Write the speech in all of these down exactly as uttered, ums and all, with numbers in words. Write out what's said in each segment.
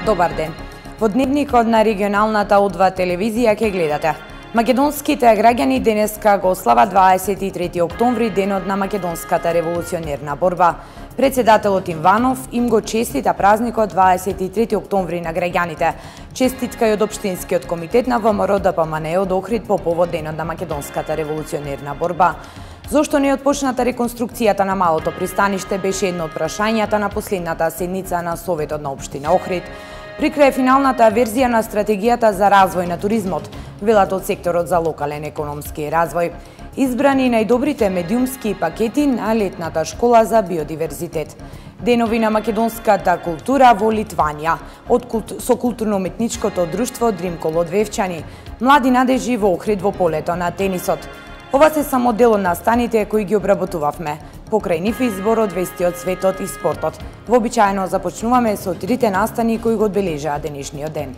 Добар ден. Во дневникот на регионалната О два телевизија ќе гледате. Македонските граѓани денеска го слава дваесет и трети октомври, денот на македонската револуционерна борба. Председателот Иванов им го честита празникот дваесет и трети октомври на граѓаните. Честитка и од Општинскиот комитет на ВМРО Д П М Н од Охрид по повод денот на македонската револуционерна борба. Зошто не е отпочната реконструкцијата на малото пристаниште беше едно од прашањата на последната седница на Советот на Општина Охрид. При крај финалната верзија на стратегијата за развој на туризмот, велат од секторот за локален економски развој. Избрани најдобрите медиумски пакети на летната школа за биодиверзитет. Денови на македонската култура во Литванија, од култ... со културно-уметничкото друштво Дримкол од Вевчани, млади надежи во Охрид во полето на тенисот. Ова се само дел од настаните кои ги обработувавме. Покрај нив избор од вести од светот и спортот. Вообичаено започнуваме со трите настани кои го одбележаа денешниот ден.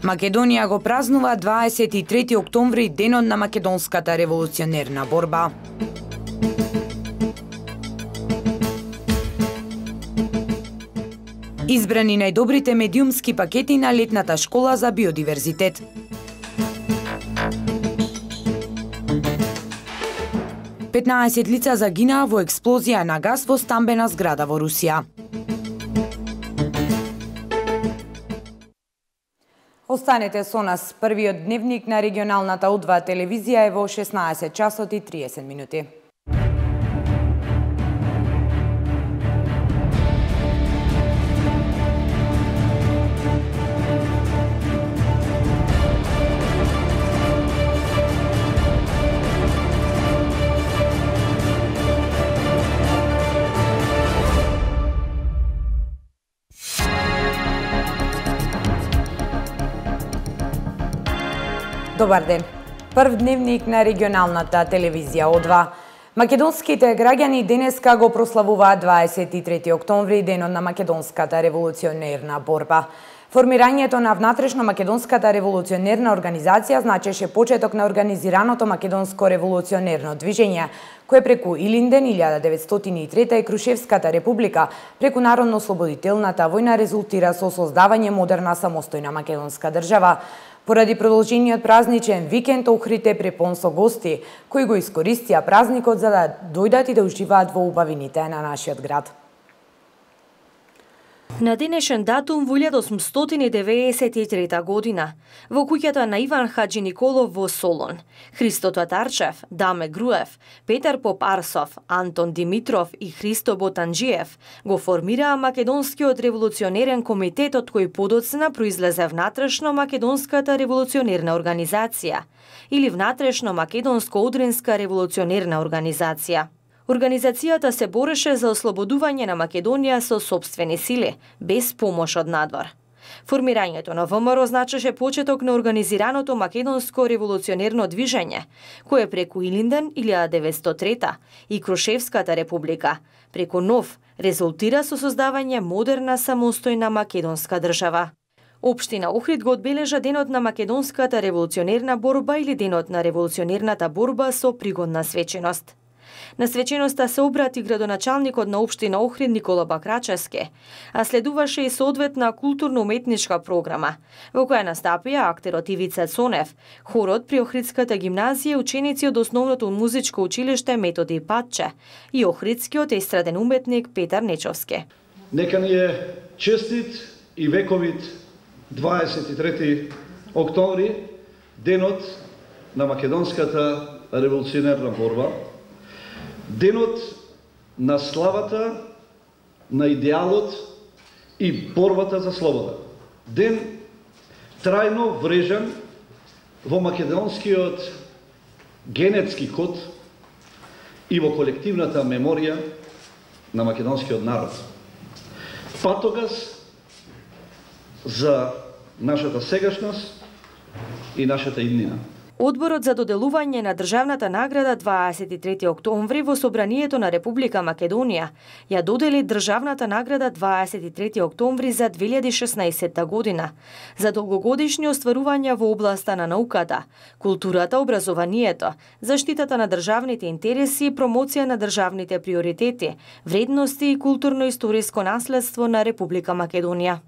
Македонија го празнува дваесет и трети октомври, денот на македонската револуционерна борба. Избрани најдобрите медиумски пакети на летната школа за биодиверзитет. петнаесет лица загинаа во експлозија на газ во стамбена зграда во Русија. Останете со нас. Првиот дневник на регионалната О два телевизија е во шеснаесет часот и триесет минути. Добар ден. Прв дневник на регионалната телевизија О два. Македонските граѓани денеска го прославуваат дваесет и трети октомври, денот на македонската револуционерна борба. Формирањето на внатрешно македонската револуционерна организација значеше почеток на организираното македонско револуционерно движење, кое преку Илинден илјада деветстотини и трета и Крушевската република преку Народно-ослободителната војна резултира со создавање модерна самостојна македонска држава. Поради продолжениот празничен викенд Охрид е препон со гости, кои го искористија празникот за да дојдат и да уживаат во убавините на нашиот град. На денешен датум во илјада осумстотини деветдесет и трета година, во куќата на Иван Хаџи Николов во Солон, Христо Татарчев, Даме Груев, Петар Поп Арсов, Антон Димитров и Христо Ботанџиев го формираа Македонскиот револуционерен комитет, од кој подоцна произлезе внатрешно Македонската револуционерна организација или внатрешно Македонско-Одринска револуционерна организација. Организацијата се бореше за ослободување на Македонија со сопствени сили, без помош од надвор. Формирањето на В М Р значеше почеток на организираното македонско револуционерно движење, кое преку Илинден илјада деветстотини и трета и Крушевската република, преку Нов, резултира со создавање модерна самостојна македонска држава. Општина Охрид го одбележа денот на македонската револуционерна борба или денот на револуционерната борба со пригодна свеченост. На свеченоста се обрати градоначалникот на Општина Охрид Никола Бакрачевски, а следуваше и соодветна културно-уметничка програма, во која настапија актерот Ивица Цонев, хорот при Охридската гимназија, ученици од основното музичко училиште Методи Патче и охридскиот естраден уметник Петар Нечовски. Нека ни е честит и вековит дваесет и трети октомври, денот на македонската револуционерна борба, денот на славата, на идеалот и борбата за слобода. Ден трајно врежан во македонскиот генетски код и во колективната меморија на македонскиот народ. Патогас за нашата сегашност и нашата иднина. Одборот за доделување на државната награда дваесет и трети октомври во Собранието на Република Македонија ја додели државната награда дваесет и трети октомври за две илјади и шеснаесетта година за долгогодишни остварувања во областа на науката, културата, образованието, заштитата на државните интереси и промоција на државните приоритети, вредности и културно-историско наследство на Република Македонија.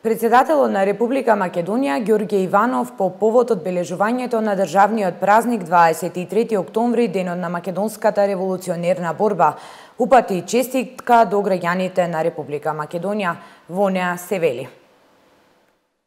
Председателот на Република Македонија Ѓорѓе Иванов по повод одбележувањето на државниот празник дваесет и трети октомври, денот на македонската револуционерна борба, упати честитка до граѓаните на Република Македонија. Во неа се вели: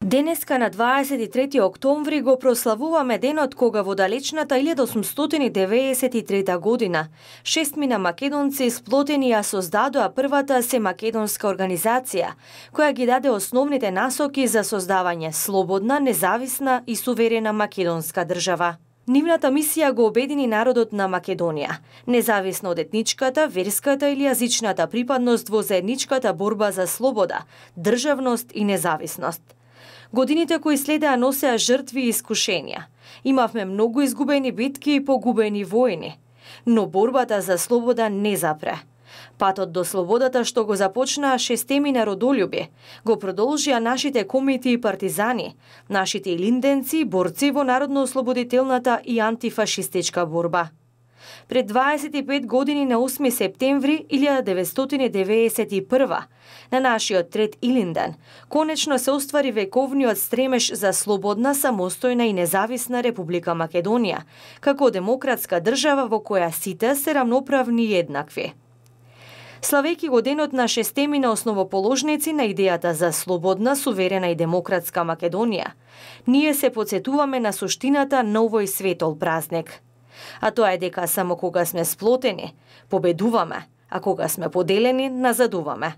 Денеска на дваесет и трети октомври го прославуваме денот кога во далечната илјада осумстотини деветдесет и трета година шестмина македонци сплотени ја создадоа првата семакедонска организација, која ги даде основните насоки за создавање слободна, независна и суверена македонска држава. Нивната мисија го обедини народот на Македонија, независно од етничката, верската или јазичната припадност во заедничката борба за слобода, државност и независност. Годините кои следеа носеа жртви и искушенија. Имавме многу изгубени битки и погубени војни, но борбата за слобода не запре. Патот до слободата што го започнаа шестемина родолюби, го продолжија нашите комити и партизани, нашите илинденци и борци во народно-ослободителната и антифашистичка борба. Пред дваесет и пет години на осми септември илјада деветстотини деветдесет и прва, на нашиот трет Илинден, конечно се оствари вековниот стремеж за слободна, самостојна и независна Република Македонија, како демократска држава во која сите се рамноправни и еднакви. Славејќи го денот на шестемина основоположници на идејата за слободна, суверена и демократска Македонија, ние се потсетуваме на суштината на овој светол празник. А тоа е дека само кога сме сплотени, победуваме, а кога сме поделени, назадуваме.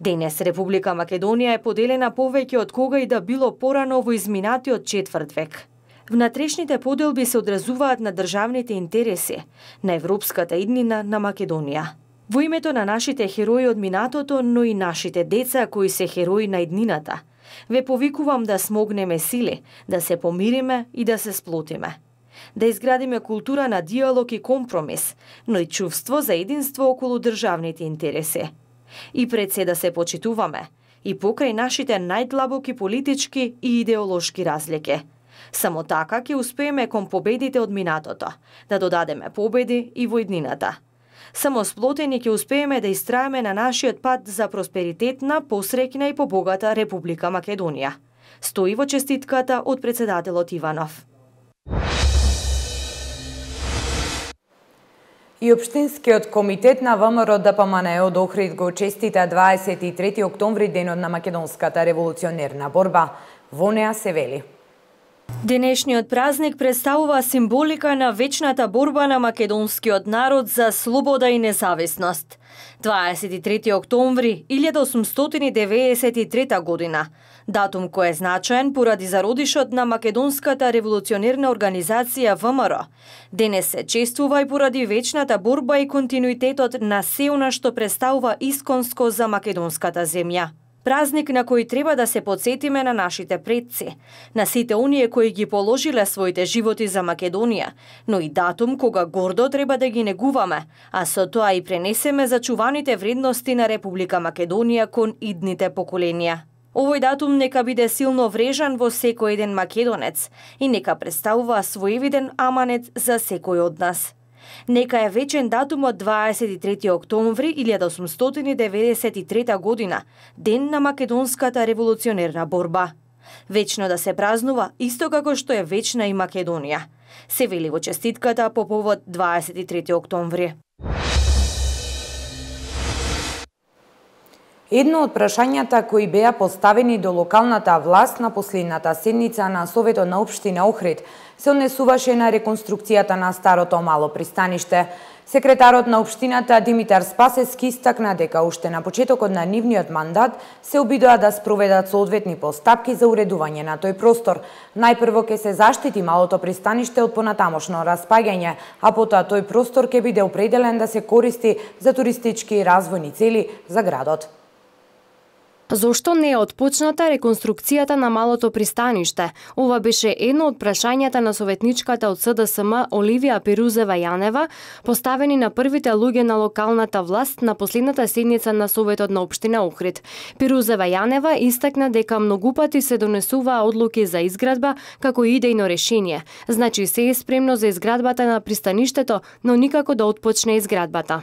Денес Република Македонија е поделена повеќе од кога и да било порано во изминатиот четврт век. Внатрешните поделби се одразуваат на државните интереси, на европската иднина на Македонија. Во името на нашите херои од минатото, но и нашите деца кои се херои на иднината, ве повикувам да смогнеме сили, да се помириме и да се сплотиме. Да изградиме култура на диалог и компромис, но и чувство за единство околу државните интереси. И пред се да се почитуваме, и покрај нашите најдлабоки политички и идеолошки разлики. Само така ќе успееме кон победите од минатото, да додадеме победи и во иднината. Само сплотени ќе успееме да истраеме на нашиот пат за просперитетна, посреќна и побогата Република Македонија. Стои во честитката од председателот Иванов. И Општинскиот комитет на ВМРО ДПМНЕ од Охрид го честита дваесет и трети октомври, денот на македонската револуционерна борба. Во неа се вели: Денешниот празник представува символика на вечната борба на македонскиот народ за слобода и независност. дваесет и трети октомври илјада осумстотини деветдесет и трета година, датум кој е значаен поради зародишот на македонската револуционерна организација ВМРО. Денес се чествува и поради вечната борба и континуитетот на се она што представува исконско за македонската земја. Празник на кој треба да се потсетиме на нашите предци, на сите оние кои ги положиле своите животи за Македонија, но и датум кога гордо треба да ги негуваме, а со тоа и пренесеме зачуваните вредности на Република Македонија кон идните поколенија. Овој датум нека биде силно врежан во секој еден македонец и нека представува своевиден аманет за секој од нас. Нека е вечен датумот дваесет и трети октомври илјада осумстотини деветдесет и трета година, ден на македонската револуционерна борба. Вечно да се празнува, исто како што е вечна и Македонија. Се вели во честитката по повод дваесет и трети октомври. Едно од прашањата кои беа поставени до локалната власт на последната седница на Советот на Општина Охрид се однесуваше на реконструкцијата на старото мало пристаниште. Секретарот на Општината Димитар Спасевски истакна дека уште на почетокот на нивниот мандат се обидоа да спроведат соодветни постапки за уредување на тој простор. Најпрво ќе се заштити малото пристаниште од понатамошно распаѓање, а потоа тој простор ќе биде определен да се користи за туристички и развојни цели за градот. Зошто не е отпочната реконструкцијата на малото пристаниште? Ова беше едно од прашањата на советничката од С Д С М Оливија Пирузева Јанева, поставени на првите луѓе на локалната власт на последната седница на Советот на општина Охрид. Пирузева Јанева истакна дека многу пати се донесуваа одлуки за изградба како идејно решение. Значи се е спремно за изградбата на пристаништето, но никако да отпочне изградбата.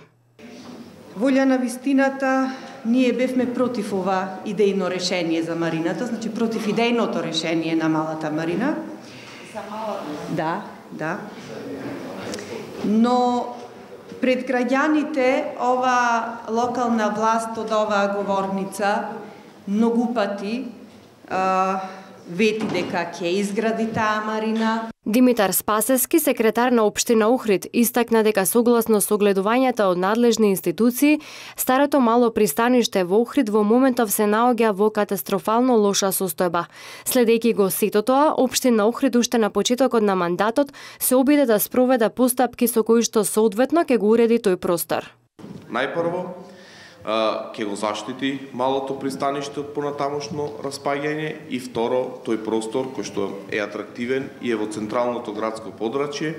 Волја на вистината, ние бевме против ова идејно решение за марината, значи против идејното решение на малата марина. За малата? Да, да. Но пред граѓаните ова локална власт од оваа говорница многу пати а, вети дека ќе изгради таа марина. Димитар Спасевски, секретар на општина Охрид, истакна дека согласно согледувањата од надлежни институции, старото мало пристаниште во Охрид во моментов се наоѓа во катастрофално лоша состојба. Следејќи го сето тоа, општина Охрид уште на почетокот на мандатот се обиде да спроведе постапки со кои што соодветно ќе го уреди тој простор. Најпрво, ќе го заштити малото пристаниште од понатамошно распаѓање и второ, тој простор кој што е атрактивен и е во централното градско подрачје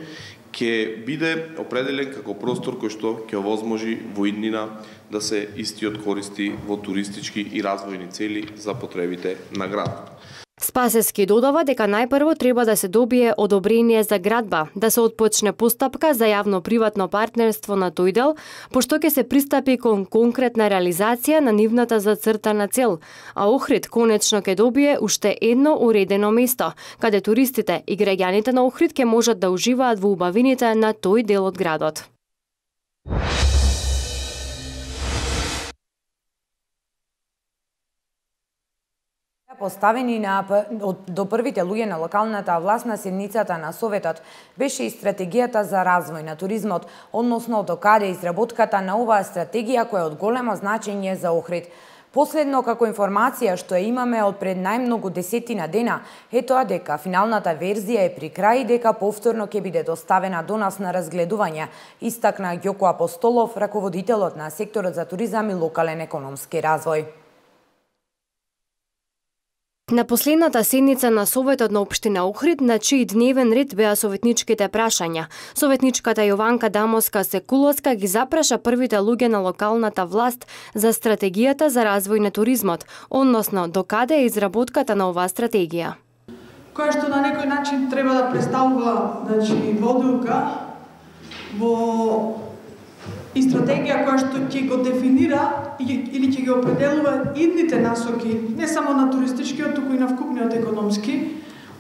ќе биде определен како простор кој што ќе овозможи во иднина да се истиот користи во туристички и развојни цели за потребите на градот. Спасевски додава дека најпрво треба да се добие одобрение за градба, да се отпочне постапка за јавно-приватно партнерство на тој дел, пошто ќе се пристапи кон конкретна реализација на нивната зацртана цел, а Охрид конечно ќе добие уште едно уредено место, каде туристите и граѓаните на Охрид ќе можат да уживаат во убавините на тој дел од градот. Поставени на, до првите луѓе на локалната власт на седницата на Советот беше и стратегијата за развој на туризмот, односно докаде изработката на оваа стратегија која е од големо значење за Охрид. Последно, како информација што ја имаме од пред најмногу десетина дена, е тоа дека финалната верзија е при крај и дека повторно ќе биде доставена до нас на разгледување, истакна Ѓоко Апостолов, раководителот на секторот за туризам и локален економски развој. На последната седница на Советот на општина Охрид, на чиј дневен ред беа советничките прашања, советничката Јованка Дамоска-Секуловска ги запраша првите луѓе на локалната власт за стратегијата за развој на туризмот, односно докаде е изработката на оваа стратегија. Која што на некој начин треба да представува, значи, водилка во и стратегија која што ќе го дефинира или ќе ги определува идните насоки, не само на туристичкиот, туку и на вкупниот економски,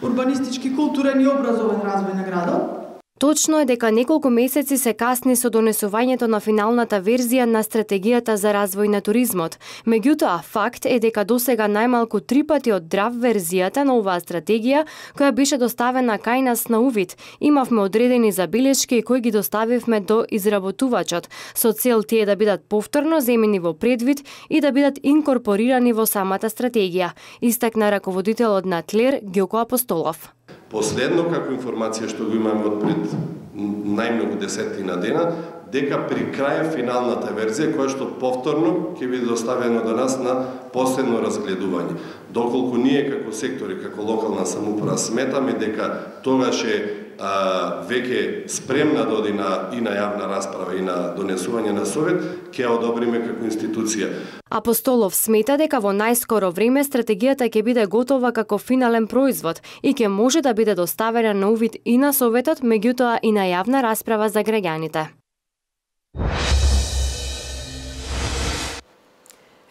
урбанистички, културен и образовен развој на градот. Точно е дека неколку месеци се касни со донесувањето на финалната верзија на стратегијата за развој на туризмот. Меѓутоа, факт е дека досега најмалку три пати од драв верзијата на оваа стратегија, која беше доставена кај нас на увид, имавме одредени забелешки кои ги доставивме до изработувачот, со цел тие да бидат повторно земени во предвид и да бидат инкорпорирани во самата стратегија, истакна раководителот на ТЛЕР Ѓоко Апостолов. Последно, како информација што го имаме од пред најмногу десетина дена, дека при крај финалната верзија, која што повторно ќе биде доставено до нас на последно разгледување. Доколку ние како сектори, како локална самоуправа сметаме дека тогаш е а, веќе спремна да оди на, и на јавна расправа и на донесување на Совет, ќе ја одобриме како институција. Апостолов смета дека во најскоро време стратегијата ќе биде готова како финален производ и ќе може да биде доставена на увид и на Советот, меѓутоа и на јавна расправа за граѓаните.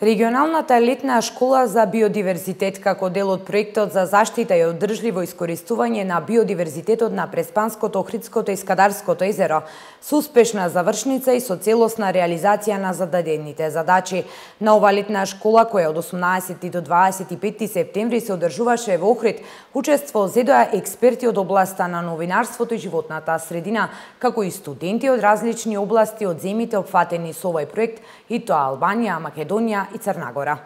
Регионалната летна школа за биодиверзитет како дел од проектот за заштита и одржливо искористување на биодиверзитетот на Преспанското, Охридското и Скадарското езеро со успешна завршница и со целосна реализација на зададените задачи. На ова летна школа, која од осумнаесети до дваесет и петти септември се одржуваше во Охрид, учество зедоа експерти од областа на новинарството и животната средина, како и студенти од различни области од земите опфатени со овој проект, и тоа Албанија, Македонија и Црна Гора.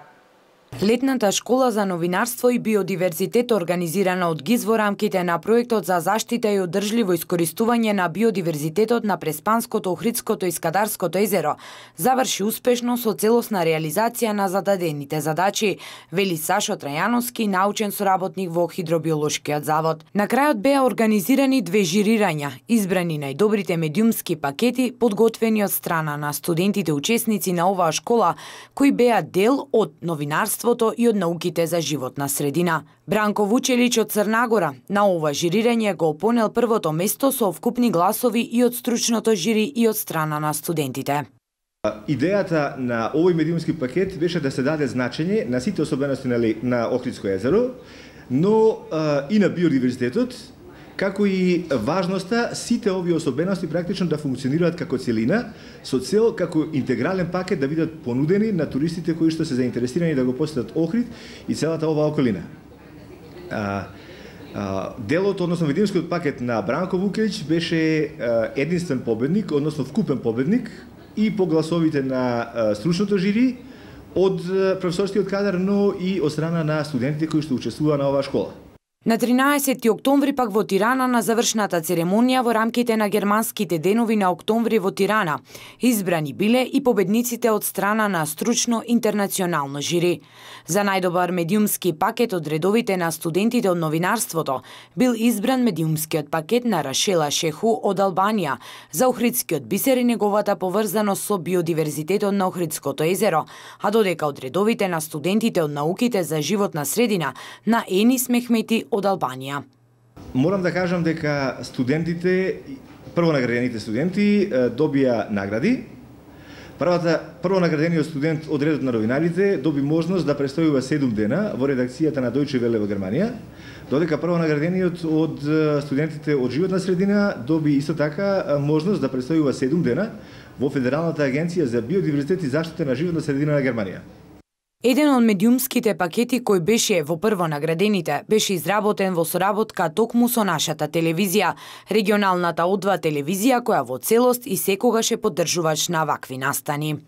Летната школа за новинарство и биодиверзитет, организирана од ГИЗ во рамките на проектот за заштита и одржливо искористување на биодиверзитетот на Преспанското, Охридското и Скадарското езеро, заврши успешно со целосна реализација на зададените задачи, вели Сашо Трајановски, научен соработник во Хидробиолошкиот завод. На крајот беа организирани две жирирања, избрани најдобрите медиумски пакети, подготвени од страна на студентите учесници на оваа школа, кои беа дел од новинарство и од науките за животна средина. Бранко Вучелич од Црнагора на ова жирирање го понел првото место со вкупни гласови и од стручното жири и од страна на студентите. Идејата на овој медиумски пакет беше да се даде значење на сите особености на Охридско езеро, но и на биодиверзитетот, како и важноста сите овие особености практично да функционираат како целина, со цел како интегрален пакет да бидат понудени на туристите кои што се заинтересирани да го посетат Охрид и целата оваа околина. А, а, делот, односно медиумскиот пакет на Бранко Вукелич беше а, единствен победник, односно вкупен победник и по гласовите на а, стручното жири од професорскиот кадар, но и од страна на студентите кои што учествуваа на оваа школа. На тринаесети октомври пак во Тирана на завршната церемонија во рамките на германските денови на октомври во Тирана избрани биле и победниците од страна на стручно интернационално жири. За најдобар медиумски пакет од редовите на студентите од новинарството бил избран медиумскиот пакет на Рашела Шеху од Албанија за Охридскиот бисер и неговата поврзаност со биодиверзитетот на Охридското езеро, а додека од редовите на студентите од науките за животна средина на Енис Мехмети од Албанија. Морам да кажам дека студентите, прво наградените студенти добија награди. Првата прво наградениот студент од редот на новинарите доби можност да престојува седум дена во редакцијата на Deutsche Welle во Германија, додека прво наградениот од студентите од животна средина доби исто така можност да престојува седум дена во Федералната агенција за биодиверзитет и заштита на животна средина на Германија. Еден од медиумските пакети кој беше во прво наградените беше изработен во соработка токму со нашата телевизија, регионалната О два телевизија која во целост и секогаш е поддржувач на вакви настани.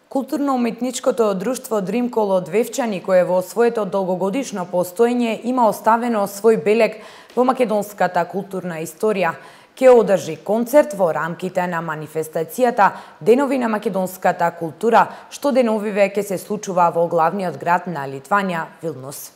Културно-уметничкото друштво Дримкол од Вевчани, кое во своето долгогодишно постоење има оставено свој белег во македонската културна историја, ќе одржи концерт во рамките на манифестацијата Денови на македонската култура, што деновиве ќе се случува во главниот град на Литванија, Вилнус.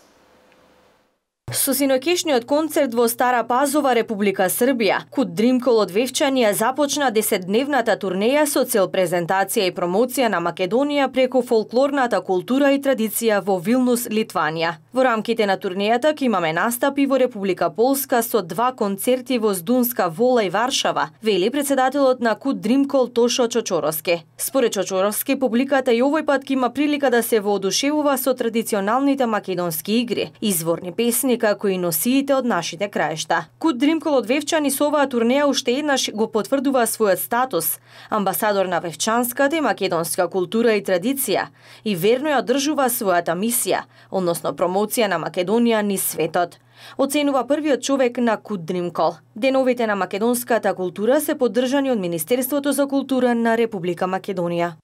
Со синоќешниот концерт во Стара Пазова, Република Србија, Кут Дримкол од Вевчани ја започна десетдневната турнеја со цел презентација и промоција на Македонија преку фолклорната култура и традиција во Вилнус, Литванија. Во рамките на турнејата ќе имаме настапи во Република Полска со два концерти во Здунска Вола и Варшава, вели председателот на Кут Дримкол Тошо Чочоровски. Според Чочоровски, публиката и овој пат ќе има прилика да се воодушевува со традиционалните македонски игри, изворни песни како и носиите од нашите краишта. Кут Дримкол од Вевчани со оваа турнеја уште еднаш го потврдува својот статус, амбасадор на вевчанската и македонска култура и традиција, и верно ја одржува својата мисија, односно промоција на Македонија низ светот. Оценува првиот човек на Кут Дримкол. Деновите на македонската култура се поддржани од Министерството за култура на Република Македонија.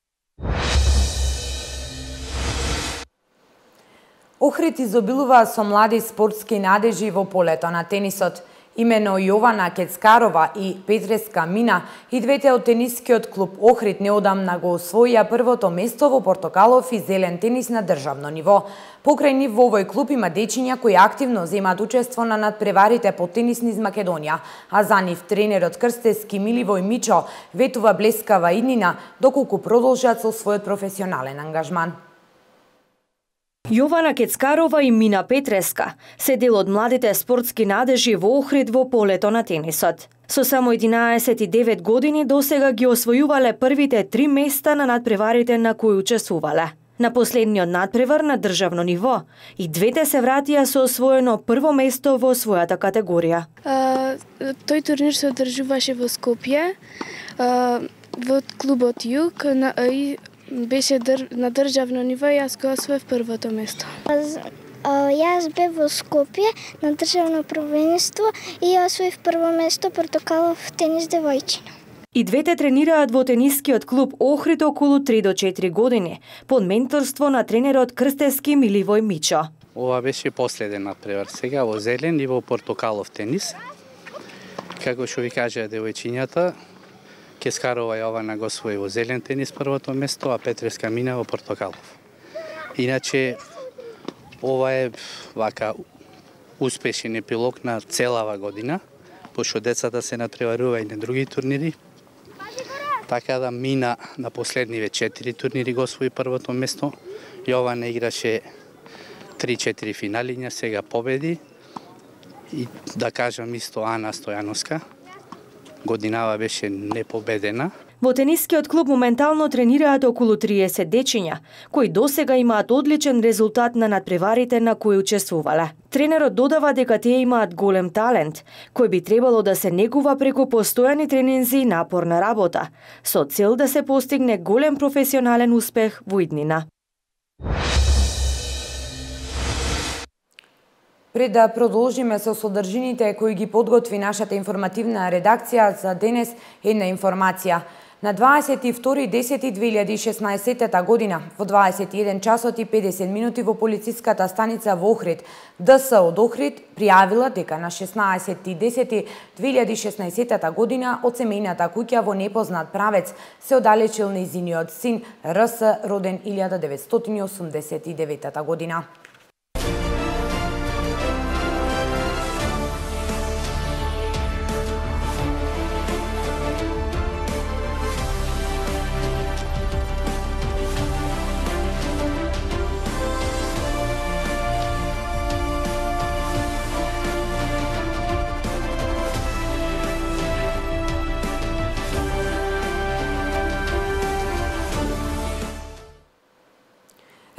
Охрид изобилува со млади спортски надежи во полето на тенисот. Имено Јована Кецкарова и Петреска Мина, и двете од тенискиот клуб Охрид неодамна го освоија првото место во портокалов и зелен тенис на државно ниво. Покрај нив во овој клуб има дечиња кои активно земат учество на надпреварите по тенис низ Македонија, а за нив тренерот Крстески Миливој Мичо ветува блескава иднина доколку продолжат со својот професионален ангажман. Јована Кецкарова и Мина Петреска се дел од младите спортски надежи во Охрид во полето на тенисот. Со само единаесет и девет години досега ги освојувале првите три места на надпреварите на кои учествувале. На последниот надпревар на државно ниво и двете се вратија со освоено прво место во својата категорија. А, тој турнир се одржуваше во Скопје, а, во клубот Југ, на, и беше др... на државно ниво и јас го освоив првото место. Јас бев во Скопје на државно првенство и освоив прво место портокалов тенис девојчина. И двете тренираат во тенискиот клуб Охрид околу три до четири години, под менторство на тренерот Крстевски Миливој Мичо. Ова беше последен надпревар сега во зелен и во портокалов тенис. Како што ви кажа девојчињата, Кескарова Јована го освои во зелен тенис првото место, а Петреска мина во портокалов. Иначе, ова е вака успешен епилог на целава година, пошто децата се надпреварува и на други турнири. Така да мина на последниве четири турнири го освои првото место. Јована играше три-четири финалиња, сега победи. И да кажам исто Ана Стојановска, годинава беше непобедена. Во тенискиот клуб моментално тренираат околу триесет дечиња, кои досега имаат одличен резултат на надпреварите на кои учествувале. Тренерот додава дека тие имаат голем талент, кој би требало да се негува преку постојани тренинзи и напорна работа, со цел да се постигне голем професионален успех во иднина. Пред да продолжиме со содржините кои ги подготви нашата информативна редакција за денес, една информација. На дваесет и втори десети две илјади и шеснаесетта година, во дваесет и еден часот и педесет минути во полициската станица во Охрид, ДС од Охрид пријавила дека на шеснаесети десети две илјади и шеснаесетта година од семејната куќа во непознат правец се оддалечил нејзиниот син РС, роден илјада деветстотини осумдесет и девета година.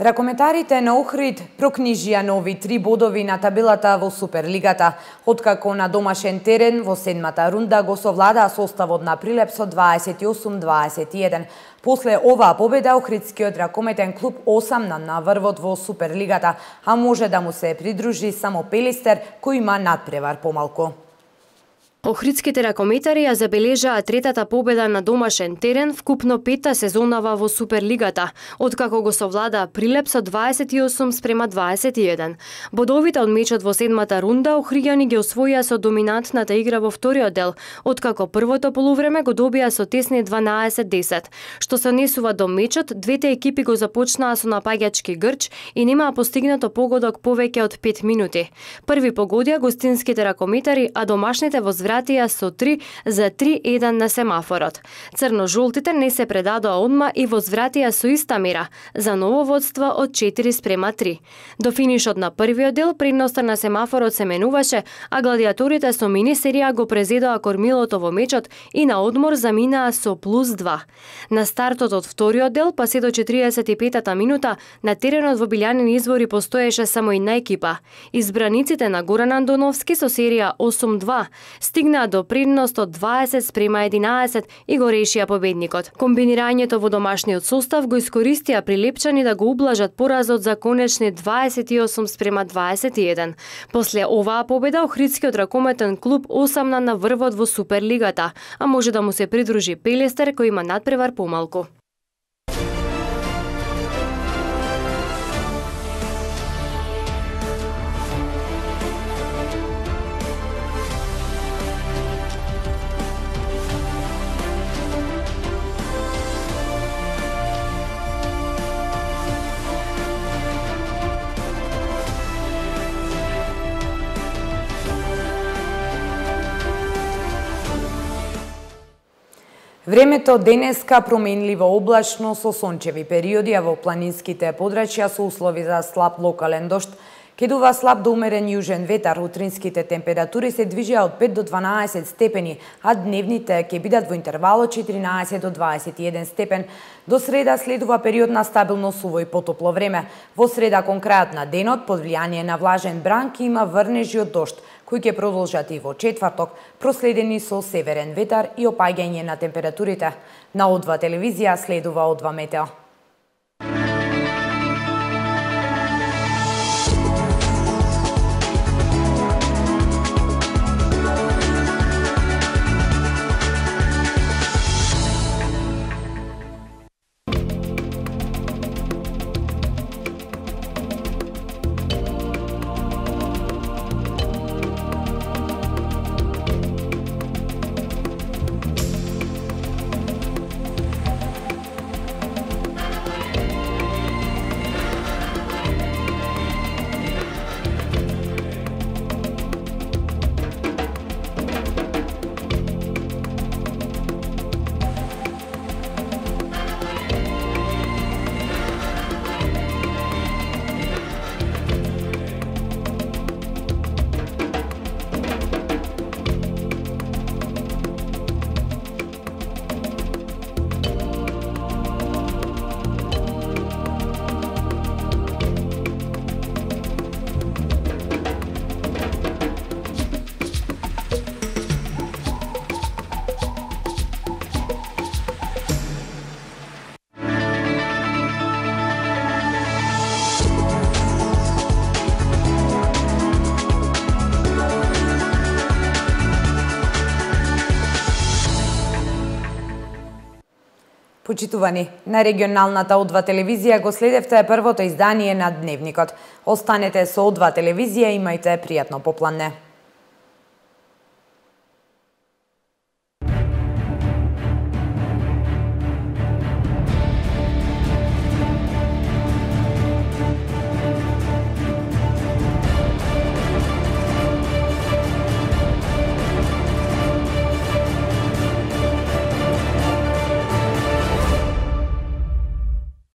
Ракометарите на Охрид прокнижија нови три бодови на табелата во Суперлигата, откако на домашен терен во седмата рунда го совладаа составот на Прилеп со дваесет и осум дваесет и еден. После оваа победа, Охридскиот ракометен клуб осамна на врвот во Суперлигата, а може да му се придружи само Пелистер, кој има надпревар помалку. Охридските ракометари ја забележаа третата победа на домашен терен вкупно петта сезонава во Суперлигата, откако го совлада Прилеп со дваесет и осум спрема дваесет и еден. Бодовите од мечот во седмата рунда Охриѓани ги освоија со доминантната игра во вториот дел, откако првото полувреме го добија со тесни дванаесет десет. Што се однесува до мечот, двете екипи го започнаа со напаѓачки грч и немаа постигнато погодок повеќе од пет минути. Први погодија гостинските ракометари, а домашните возвратија со три за три еден на семафорот. Црно-жолтите не се предадоа одма и возвратија со иста мера, за ново водство од четири спрема три. До финишот на првиот дел предноста на семафорот се менуваше, а гладиаторите со мини серија го презедоа кормилото во мечот и на одмор заминаа со плюс два. На стартот од вториот дел, па се до четириесет и петата минута, на теренот во Билјанин извори постоеше само една екипа. Избраниците на Горан Андоновски со серија осум два стигнаа до предност од дваесет спрема единаесет и го решија победникот. Комбинирањето во домашниот состав го искористија прилепчани да го ублажат поразот за конечни дваесет и осум спрема дваесет и еден. После оваа победа Охридскиот ракометен клуб осамна на врвот во Суперлигата, а може да му се придружи Пелестер кој има надпревар помалку. Времето денеска променливо облачно со сончеви периоди, а во планинските подрачја со услови за слаб локален дожд. Ке дува слаб до умерен јужен ветар, утринските температури се движеа од пет до дванаесет степени, а дневните ќе бидат во интервал од четиринаесет до дваесет и еден степен. До среда следува период на стабилно суво и потопло време. Во среда кон крајот на денот, под влијание на влажен бран, ќе има врнежи од дожд, кои ќе продолжат и во четврток, проследени со северен ветар и опаѓање на температурите. На О два телевизија следува О два метео. Почитувани, на регионалната О два телевизија го следевте првото издание на Дневникот. Останете со О два телевизија, имајте пријатно попладне.